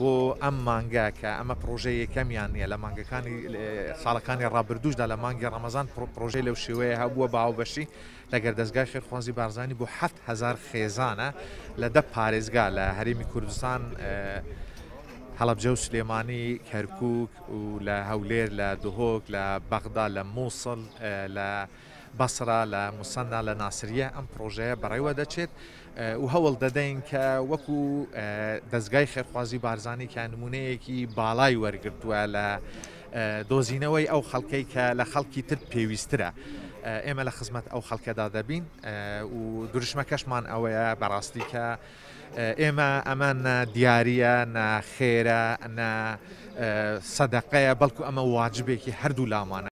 بۆ ئەم مانگە کە ئەمە پڕۆژەی یەکەمیان نییە لە مانگەکانی ساڵەکانی ڕابردووشدا لە مانگی ڕەمەزان پڕۆژەی لەو شێوەیە هەبووە بە هاوبەشی لەگەر دەزگای خێرخوازی بارزانی بۆ 7000 خێزانە لە دە پارێزگا لە هەرێمی کوردستان هەڵەبجە و سلێمانی کەرکک و لە هەولێر لە دهۆک لە بەغدا لە مووسڵ لە بەسرە لە موسەننا لە ناسریە ئەم پڕۆژەیە بەڕێوە دەچێت و هەوڵ دەدەین کە وەکو دەزگای خێرخوازی بارزانی کە نمونەیەکی باڵای وەرگرتووە لە دۆزینەوەی ئەو خەڵکەی کە لە خەڵکی تر پێویسترە ئێمە لە خزمەت ئەو خەڵکەدا دەبین و دروشمەکەشمان ئەوەیە بەڕاستی کە ئێمە ئەمە نە دیاریە نە خێرە نە سەدەقەیە بەڵکو ئەمە واجبێکی هەردوو لامانە.